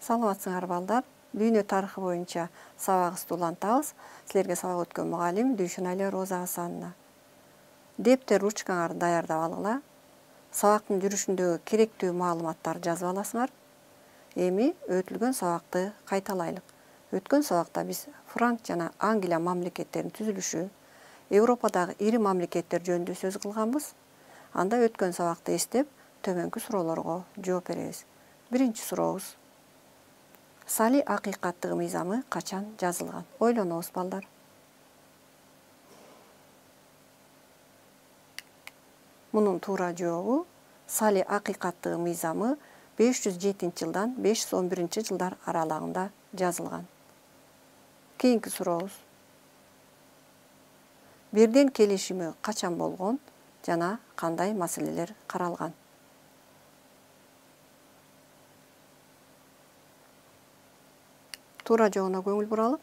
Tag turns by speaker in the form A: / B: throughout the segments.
A: Саламатсыңар балдар. Дүйнө тарыхы боюнча сабагыбызды улантабыз. Силерге сабак өткөн мугалим Дүйшөнали Роза Асанна. Дептер ручкаңарды даярдап алгыла. Сабактын жүрүшүндөгү керектүү маалыматтарды жазып аласыңар. Эми өтүлгөн сабакты кайталайлык. Өткөн сабакта биз Франк жана Англия мамлекеттеринин түзүлүшү, Европадагы ири мамлекеттер жөнүндө сөз кылганбыз. Анда өткөн сабакты эстеп, төмөнкү суроолорго жооп беребиз. Биринчи сурообуз. Сали акыйкаттыгы мыйзамы качан жазылган? Ойлонобуз балдар. Мунун туура жообу Сали акыйкаттыгы мыйзамы 507-жылдан 511-жылдар аралыгында жазылган. Кийинки сурообуз. Бирден келишими качан болгон жана кандай маселелер каралган? Туура жообуна көңүл буралы.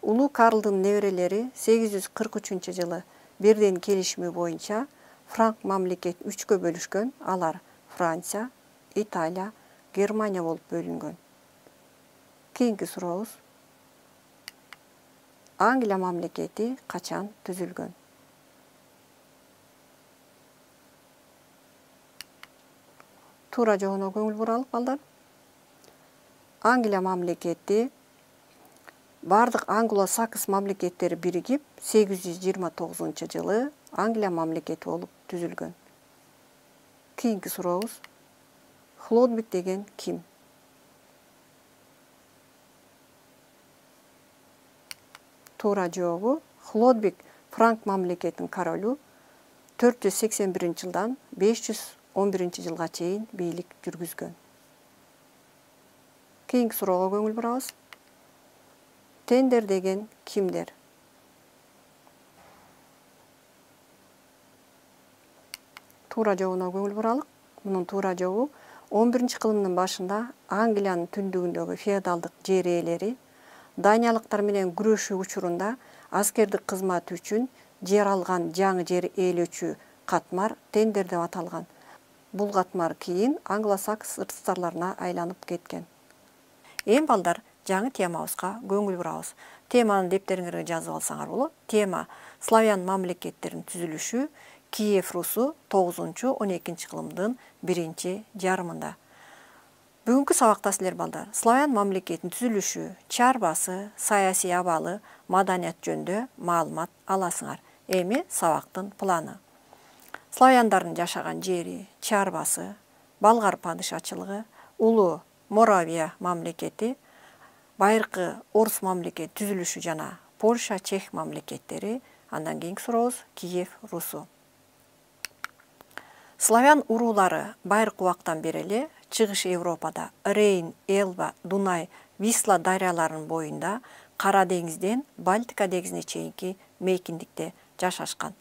A: Улуу Карлдын неберелери 843-жылы Бирден келишими боюнча Франк мамлекетин 3кө бөлүшкөн. Алар Франция, Италия, Германия болуп бөлүнгөн. Кийинки сурообуз. Англия мамлекети качан түзүлгөн? Туура жообуна көңүл буралы балдар. Англия мамлекети бардык англо-сакс мамлекеттери биригип 829-жылы Англия мамлекети болуп түзүлгөн. Кийинки сурообуз. Хлодвиг деген ким? Туура жообу Хлодвиг Франк мамлекетинин королу 481-жылдан 511-жылга чейин бийлик жүргүзгөн. Кийинки суроого көңүл бурабыз. Тендер деген кимдер? Туура жообуна көңүл буралык. Мунун туура жообу 11-кылымдын башында Англиянын түндүгүндөгү феодалдык жер ээлери Даниялыктар менен күрөшүү учурунда аскердик кызматы үчүн жер алган жаңы жер ээлөөчү катмар тендер деп аталган. Бул катмар кийин англо-сакс рыцарьларына айланып кеткен. Эми балдар жаңы темабызга көңүл бурабыз. Теманы дептериңерге жазып алсаңар болот. Тема славян мамлекеттеринин түзүлүшү Киев Русу 9-12 кылымдын 1 жарымында. Бүгүнкү сабакта силер балдар славян мамлекетинин түзүлүшү, чарбасы, саясий абалы, маданият жөнүндө маалымат аласыңар. Эми сабактын планы. Славяндардын жашаган жери, чарбасы, Болгар падышачылыгы, улуу Моравия мамлекети, байыркы Орус мамлекети түзүлүшү жана Польша, Чех мамлекеттери. Андан кийинки сурообуз Киев Русу. Славян уруулары байыркы убактан бери эле Чыгыш Европада Рейн, Элба, Дунай, Висла дарыяларынын боюнда Кара деңизден Балтика деңизине чейинки мейкиндикте жашашкан.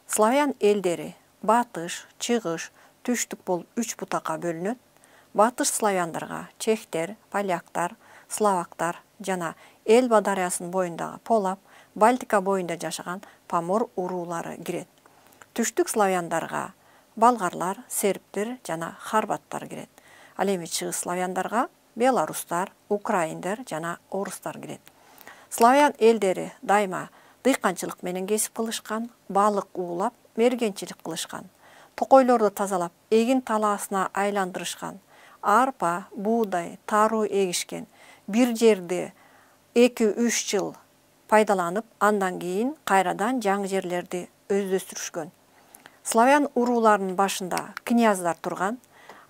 A: Славян элдери батыш, чыгыш, түштүк болуп 3 бутакка бөлүнөт. Батыш славяндарга чехтер, поляктар, словактар жана Элба дарыясынын боюндагы Полап, Балтика боюнда жашаган Помор уруулары кирет. Түштүк славяндарга болгарлар, сербтер жана хорваттар кирет. Ал эми чыгыш славяндарга белорустар, украиндер жана орустар кирет. Славян элдери дайыма дыйканчылык менен кесип кылышкан, балык уулап, мергенчилик кылышкан. Токойлорду тазалап, эгин талаасына айландырышкан. Арпа, буудай, таруу эгишкен. Бир жерди 2-3 жыл пайдаланып, андан кийин кайрадан жаңы жерлерди өздөштүрүшкөн. Славян урууларынын башында княздар турган.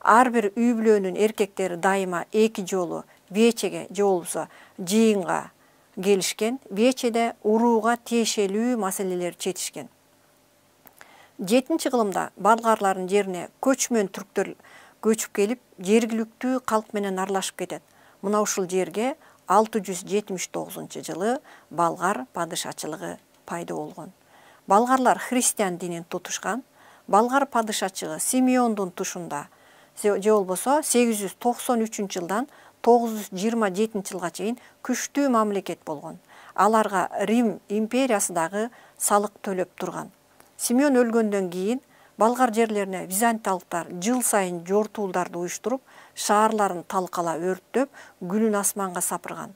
A: Ар бир үй бүлөнүн эркектери дайыма 2 жолу вечеге же болбосо жыйынга келишкен. Вечеде урууга тиешелүү маселелер чечишкен. 7-кылымда болгарлардын жерине көчмөн түрктөр көчүп келип, жергиликтүү калк менен аралашып кетет. Мына ушул жерге 679-жылы болгар падышачылыгы пайда болгон. Болгарлар христиан динин тутушкан. Болгар падышачыгы Симеондун тушунда же болбосо 893-жылдан 927-жылга чейин күчтүү мамлекет болгон. Аларга Рим империясы дагы салык төлөп турган. Симеон өлгөндөн кийин Болгар жерлерине византиялыктар жыл сайын жортуулдарды уюштуруп, шаарларын талкала өрттөп, күлүн асманга сапырган.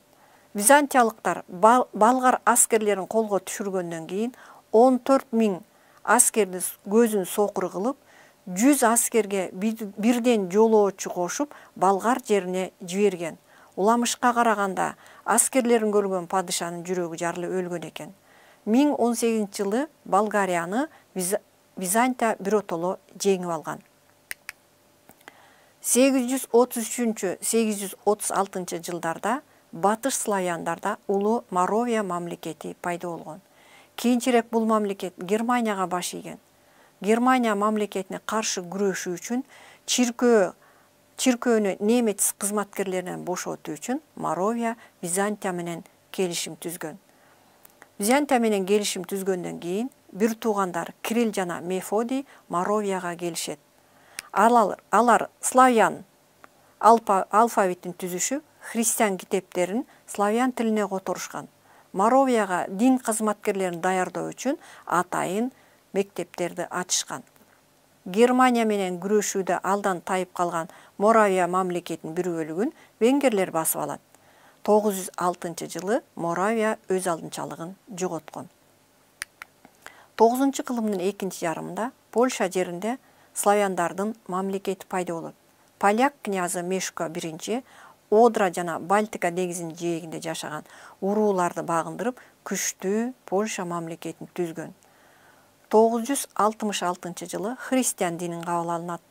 A: Византиялыктар болгар аскерлерин колго түшүргөндөн кийин 14 000 аскерди көзүн сокур кылып, 100 аскерге бирден жолоочу кошуп, болгар жерине жиберген. Уламышка караганда аскерлерин көргөн падышанын жүрөгү жарылып өлгөн экен. 1018-жылы Болгарияны Византия биротоло жеңип алган. 833-836 жылдарда Батыш славяндарда улуу Моравия мамлекети пайда болгон. Кийинчерээк бул мамлекет Германияга баш ийген. Германия мамлекетине каршы күрөшүү үчүн чиркөөнү немец кызматкерлеринен бошотуу үчүн Моравия Византия менен келишим түзгөн. Византия менен келишим түзгөндөн кийин бир туугандар Кирилл жана Мефодий Моравияга келишет. Алар славян алфавитин түзүшүп, христиан китептерин славян тилине которушкан. Моравияга дин кызматкерлерин даярдоо үчүн атайын мектептерди ачышкан. Германия менен күрөшүүдө алдан тайып калган Моравия мамлекетинин бир бөлүгүн венгерлер басып алат. 906-жылы Моравия өз алдынчалыгын жоготкон. 9-кылымдын экинчи жарымында Польша жеринде славяндардын мамлекети пайда болот. Поляк князы Мешко I Одра жана Балтика деңизинин жээгинде жашаган урууларды багындырып, күчтүү Польша мамлекетин түзгөн. 966-жылы христиан динин кабыл алынат.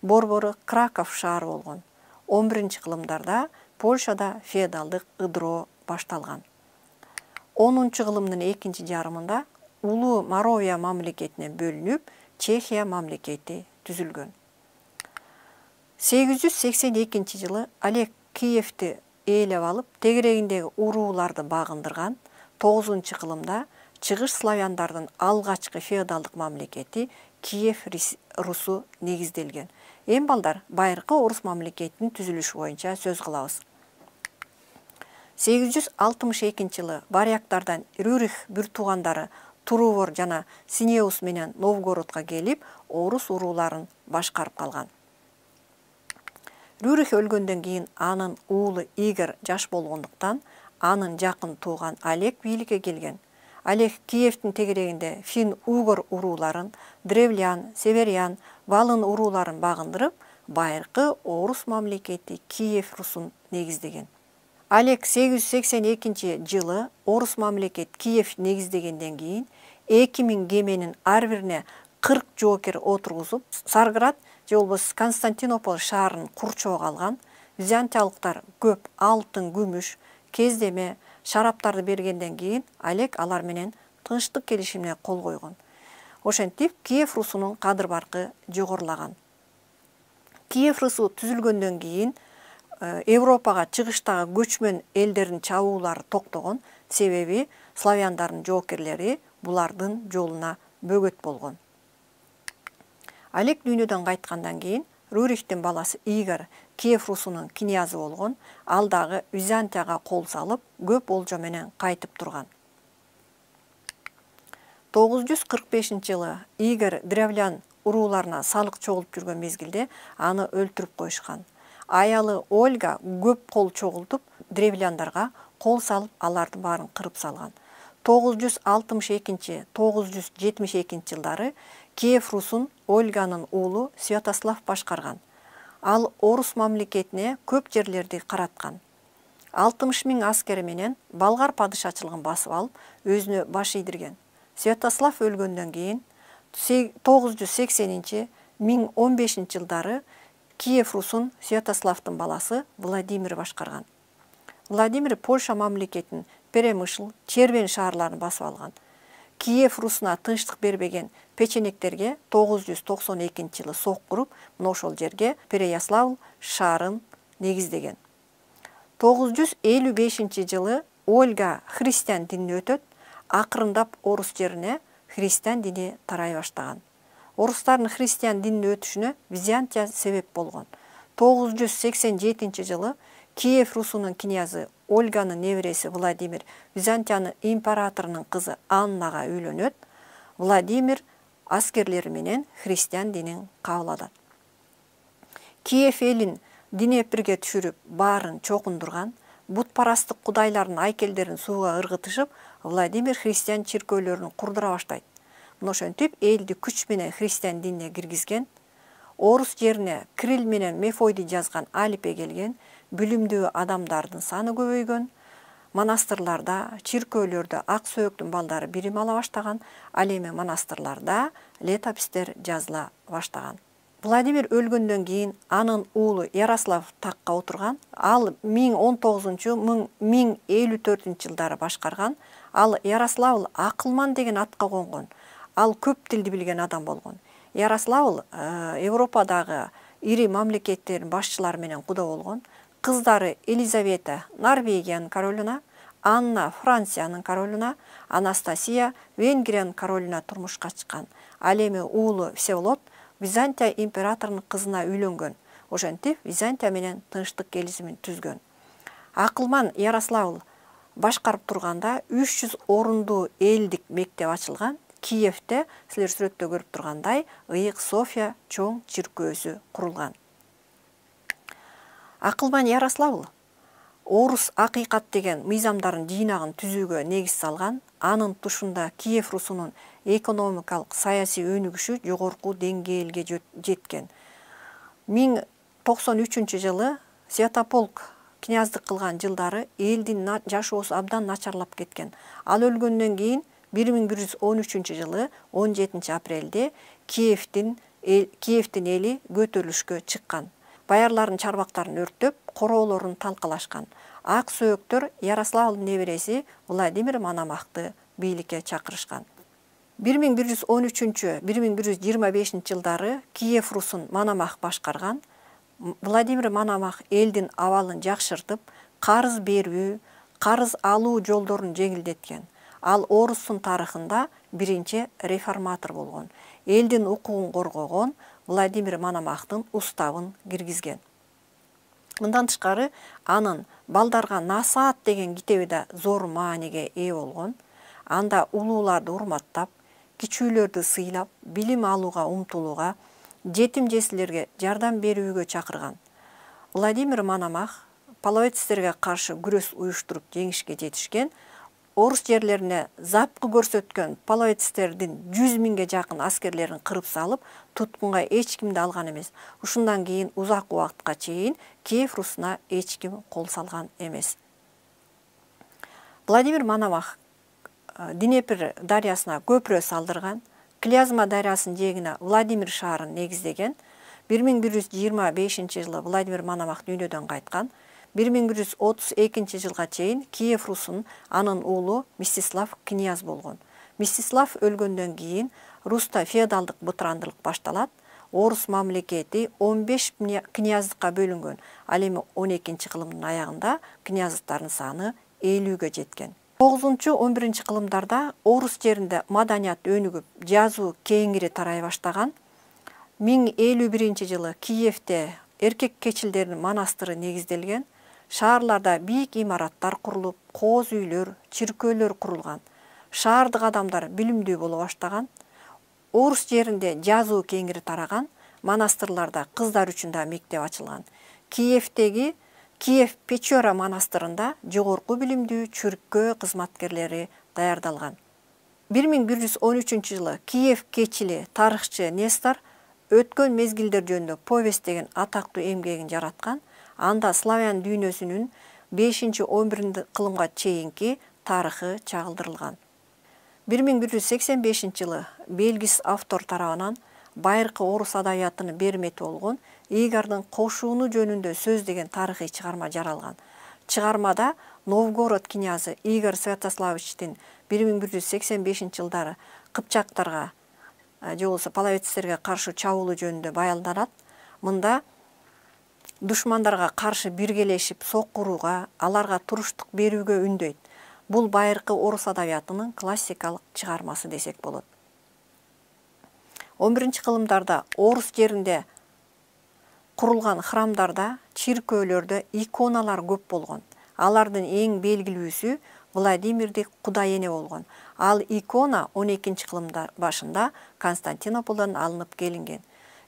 A: Борбору Краков шаары болгон. 11-кылымдарда Польшада феодалдык ыдыроо башталган. 10-кылымдын экинчи жарымында улуу Моравия мамлекетине бөлүнүп, Чехия мамлекети түзүлгөн. 882-жылы Олег Киевти ээлеп алып, тегерегиндеги урууларды багындырган. 9-кылымда чыгыш славяндардын алгачкы феодалдык мамлекети Киев Русу негизделген. Эми балдар байыркы орус мамлекетинин түзүлүшү боюнча сөз кылабыз. 862-жылы варяктардан Рюрих бир туугандары Турувор жана Синеус менен Новгородко келип, орус урууларын башкарып калган. Рюрих өлгөндөн кийин анын уулу Игорь жаш болгондуктан анын жакын тууган Олег бийликке келген. Олег Киевтин тегерегинде фин-угор урууларын, древлян, северян, валын урууларын багындырып, байыркы орус мамлекети Киев Русун негиздеген. Олег 882-жылы орус мамлекет Киев негиздегенден кийин 2000 кеменин ар бирине 40 жоокер отургузуп, Царград же болбосо Константинополь шаарын курчоого алган. Византиялыктар көп алтын, күмүш, кездеме, шараптарды бергенден кийин Олег алар менен тынчтык келишимине кол койгон. Ошентип Киев Русунун кадыр-баркы жогорулаган. Киев Русу түзүлгөндөн кийин Европага чыгыштагы көчмөн элдердин чабуулары токтогон, себеби славяндардын жоокерлери булардын жолуна бөгөт болгон. Олег дүйнөдөн кайткандан кийин Рюрихтин баласы Игорь Киев Русунун князы болгон, ал дагы Византияга кол салып, көп олжо менен кайтып турган. 945-жылы Игорь древлян урууларына салык чогулуп жүргөн мезгилде аны өлтүрүп коюшкан. Аялы Ольга көп кол чогултуп, древляндарга кол салып, алардын баарын кырып салган. 962-972 жылдары Киев Русун Ольганын уулу Святослав башкарган. Ал орус мамлекетине көп жерлерди караткан. 60 000 аскери менен болгар падышачылыгын басып алып, өзүнө баш ийдирген. Святослав өлгөндөн кийин 980-1015 жылдары Киев Русун Святославдын баласы Владимир башкарган. Владимир Польша мамлекетинин Перемышл, Червен шаарларын басып алган. Киев Русуна тынчтык бербеген печенектерге 992-жылы сок куруп, ошол жерге Переяславль шаарын негиздеген. 955-жылы Ольга христиан динин өтөт, акырындап орус жерине христиан дини тарай баштаган. Орустардын христиан динин өтүшүнө Византия себеп болгон. 987-жылы Киев Русунун князы Ольганын небереси Владимир Византиянын императорунун кызы Аннага үйлөнөт. Владимир аскерлери менен христиан динин кабыл алат. Киев элин Днепрге түшүрүп, баарын чокундурган, бутпарасттык кудайлардын айкелдерин сууга ыргытышып, Владимир христиан чиркөөлөрүн курдура баштайт. Мына ошентип элди күч менен христиан динине киргизген, орус жерине Кирилл менен Мефодий жазган алипе келген, билимдүү адамдардын саны көбөйгөн, монастырларда, чиркөөлөрдө ак сөөктүн балдары билим ала баштаган, ал эми монастырларда летопистер жазыла баштаган. Владимир өлгөндөн кийин анын уулу Ярослав такка отурган. Ал 1013-1054 жылдары башкарган. Ал Ярославл акылман деген атка конгон. Ал көп тилди билген адам болгон. Ярославл Европадагы ири мамлекеттердин башчылары менен куда болгон. Кыздары Елизавета Норвегиянын королуна, Анна Франциянын королуна, Анастасия Венгриянын королуна турмушка чыккан. Ал эми уулу Всеволод Византия императорунун кызына үйлөнгөн. Ошентип Византия менен тынчтык келишимин түзгөн. Акылман Ярославл башкарып турганда 300 орундуу элдик мектеп ачылган. Киевте силер сүрөттө көрүп тургандай ыйык София чоң чиркөөсү курулган. Акылман Ярославл орус акыйкат деген мыйзамдардын жыйнагын түзүүгө негиз салган. Анын тушунда Киев русунун экономикалык саясий өнүгүшү жогорку деңгээлге жеткен. 1093-жылы Святополк князьдык кылган жылдары элдин жашоосу абдан начарлап кеткен. Ал өлгөндөн кийин 1113-жылы 17 апрелде Киевдин эли көтөрүлүшкө чыккан. Баярлардын чарбактарын өрттөп, короолорун талкалашкан. Ак сөөктөр Ярославлдын небереси Владимир Мономахты бийликке чакырышкан. 1113-1125 жылдары Киев русун Мономах башкарган. Владимир Мономах элдин абалын жакшыртып, карыз берүү, карыз алуу жолдорун жеңилдеткен. Ал орустун тарыхында биринчи реформатор болгон. Элдин укугун коргогон, Владимир Мономахтын уставын киргизген. Мындан тышкары анын балдарга насаат деген китеби да зор мааниге ээ болгон. Анда улууларды урматтап, кичүүлөрдү сыйлап, билим алууга умтулууга, жетим жесирлерге жардам берүүгө чакырган. Владимир Мономах половецтерге каршы күрөс уюштуруп жеңишке жетишкен. Орус жерлерине запкы көрсөткөн половецтердин 100 миңге жакын аскерлерин кырып салып, туткунга эч кимди алган эмес. Ушундан кийин узак убакытка чейин Киев русуна эч ким кол салган эмес. Владимир Мономах Днепр дарыясына көпүрө салдырган, Клязьма дарыясынын жээгине Владимир шаарын негиздеген. 1125-жылы Владимир Мономах дүйнөдөн кайткан. 1132 жылга чейин Киев русунун анын уулу Мстислав князь болгон. Мстислав өлгөндөн кийин Руста феодалдык бытырандылык башталат. Орус мамлекети 15 князьдыкка бөлүнгөн. Ал эми 12-кылымдын аягында князьдыктардын саны 50-ге жеткен. 9-11 кылымдарда орус жеринде маданият өнүгүп, жазуу кеңири тарай баштаган. 1051-жылы Киевте эркек кечилдердин монастыры негизделген. Шаарларда бийик имараттар курулуп, кооз үйлөр, чиркөөлөр курулган. Шаардык адамдар билимдүү боло баштаган. Орус жеринде жазуу кеңири тараган. Монастырларда кыздар үчүн да мектеп ачылган. Киевтеги Киев Печора монастырында жогорку билимдүү чиркөө кызматкерлери даярдалган. 1113-жылы Киев кечили тарыхчы Нестор өткөн мезгилдер жөнүндө повесть деген атактуу эмгегин жараткан. Анда славян дүйнөсүнүн 5-11 кылымга чейинки тарыхы чагылдырылган. 1185-жылы белгис автор тарабынан байыркы орус адабиятынын бермети болгон Игордун кошууну жөнүндө сөз деген тарыхый чыгарма жаралган. Чыгармада Новгород князы Игорь Святославичтин 1185-жылдары кыпчактарга же болбосо половецтерге каршы чабуулу жөнүндө баялданат. Мында душмандарга каршы биргелешип соккурууга, аларга туруштук берүүгө үндөйт. Бул байыркы орус адабиятынын классикалык чыгармасы десек болот. 11-кылымдарда орус жеринде курулган храмдарда, чиркөөлөрдө иконалар көп болгон. Алардын эң белгилүүсү Владимирди кудай эне болгон. Ал икона 12-кылымда башында Константинополдон алынып келинген.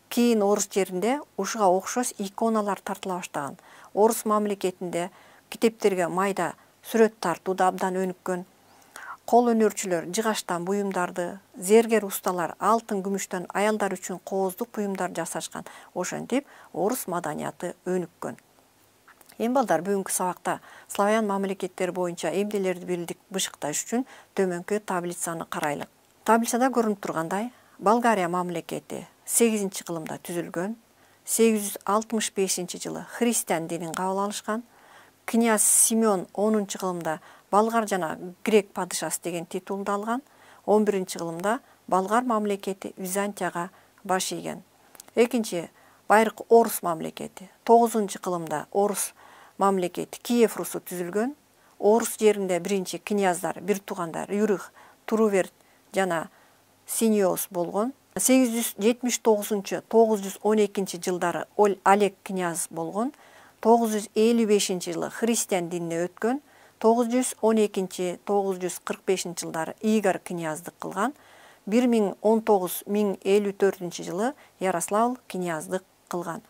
A: Кийин орус жеринде ушуга окшош иконалар тартыла баштаган. Орус мамлекетинде китептерге майда сүрөт тартууда абдан өнүккөн. Кол өнөрчүлөр жыгачтан буюмдарды, зергер усталар алтын күмүштөн аялдар үчүн кооздук буюмдар жасашкан. Ошентип орус маданияты өнүккөн. Эми балдар, бүгүнкү сабакта славян мамлекеттери боюнча эмнелерди билдик бышыкташ үчүн төмөнкү таблицаны карайлык. Таблицада көрүнүп тургандай, Болгария мамлекети 8-кылымда түзүлгөн. 865 жылы христиан динин кабыл алышкан. Князь Симеон 10-кылымда болгар жана грек падышасы деген титулду алган. 11-кылымда болгар мамлекети Византияга баш ийген. Экинчи байыркы орус мамлекети 9-кылымда орус мамлекети Киев русу түзүлгөн. Орус жеринде биринчи княздар, бир туугандар Юрих, Туруверт жана Синиос болгон. 879-912 жылдары Олег княз болгон. 955 жылы христиан динине өткөн. 912-945 жылдары Игорь княздык кылган. 1019-1054 жылы Ярослав княздык кылган.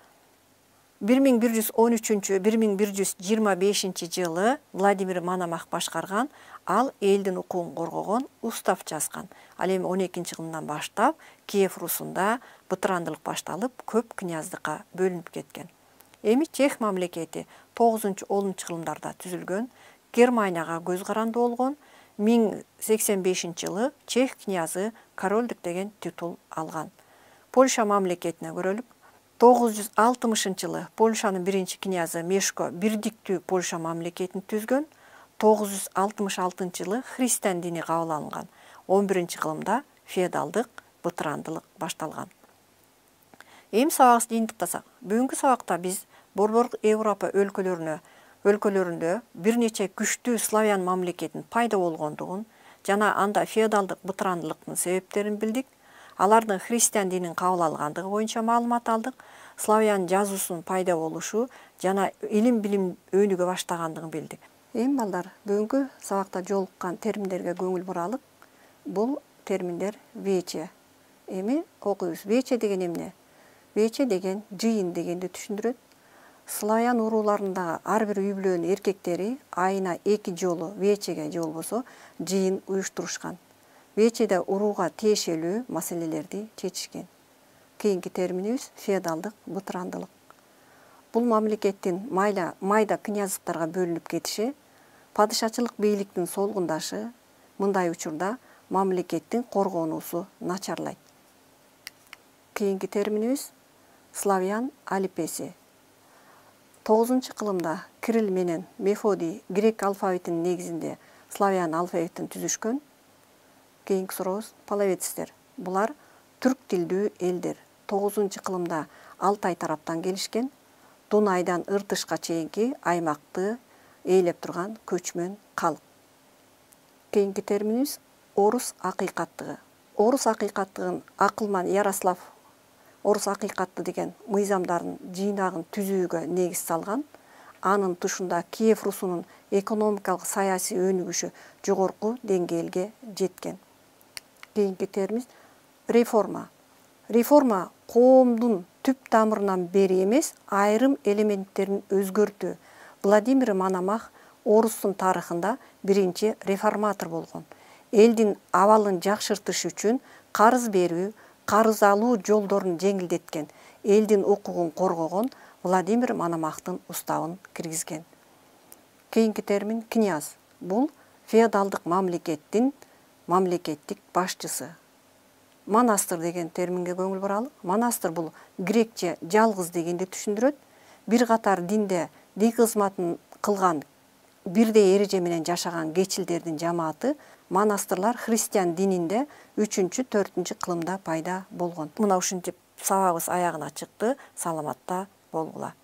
A: 1113-1125 жылы Владимир Мономах башкарган. Ал элдин укугун коргогон устав жазган. Ал эми 12-кылымдан баштап Киев русунда бытырандылык башталып, көп княздыкка бөлүнүп кеткен. Эми Чех мамлекети 9-10-кылымдарда түзүлгөн. Германияга көз каранды болгон. 1085 жылы Чех князы королдук деген титул алган. Польша мамлекетине көрөлүк. 960 жылы Польшанын биринчи князы Мешко бирдиктүү Польша мамлекетин түзгөн. 966 жылы христиан дини кабыл алынган. 11-кылымда феодалдык бытырандылык башталган. Эми сабагыбызды жыйынтыктасак, бүгүнкү сабакта биз Борбордук Европа өлкөлөрүндө бир нече күчтүү славян мамлекетинин пайда болгондугун жана анда феодалдык бытырандылыктын себептерин билдик. Алардын христиан динин кабыл алгандыгы боюнча маалымат алдык. Славян жазуусунун пайда болушу жана илим-билим өнүгө баштагандыгын билдик. Эми балдар, бүгүнкү сабакта жолуккан терминдерге көңүл буралык. Бул терминдер вече. Эми окуйбуз. Вече деген эмне? Вече деген жыйын дегенди түшүндүрөт. Славян урууларындагы ар бир үй бүлөнүн эркектери айына 2 жолу вечеге же болбосо жыйын уюштурушкан. Вечеде урууга тиешелүү маселелерди чечишкен. Кийинки терминибиз феодалдык бытырандылык. Бул мамлекеттин майда князьдыктарга бөлүнүп кетиши, падышачылык бийликтин солгундашы, мындай учурда мамлекеттин коргонуусу начарлайт. Кийинки терминибиз славян алипеси. 9-кылымда Кирилл менен Мефодий грек алфавитинин негизинде славян алфавитин түзүшкөн. Кийинки сурообуз половецтер. Булар түрк тилдүү элдер. 9-кылымда Алтай тараптан келишкен. Дунайдан Ыртышка чейинки аймакты ээлеп турган көчмөн калк. Кийинки терминибиз орус акыйкаттыгы. Орус акыйкаттыгын Акылман Ярослав орус акыйкатты деген мыйзамдардын жыйнагын түзүүгө негиз салган. Анын тушунда Киев русунун экономикалык саясий өнүгүшү жогорку деңгээлге жеткен. Кийинки термин реформа. Реформа коомдун түп тамырынан бери эмес, айрым элементтерин өзгөртүү. Владимир Мономах орустун тарыхында биринчи реформатор болгон. Элдин абалын жакшыртыш үчүн карыз берүү, карыз алуу жолдорун жеңилдеткен, элдин укугун коргогон Владимир Мономахтын уставын киргизген. Кийинки термин князь. Бул феодалдык мамлекеттик башчысы. Монастыр деген терминге көңүл буралык. Монастыр бул грекче жалгыз дегенди түшүндүрөт. Бир катар дин кызматын кылган, бирдей эреже менен жашаган кечилдердин жамааты. Монастырлар христиан дининде 3-4 кылымда пайда болгон. Мына ушинтип сабагыбыз аягына чыкты. Саламатта болгула.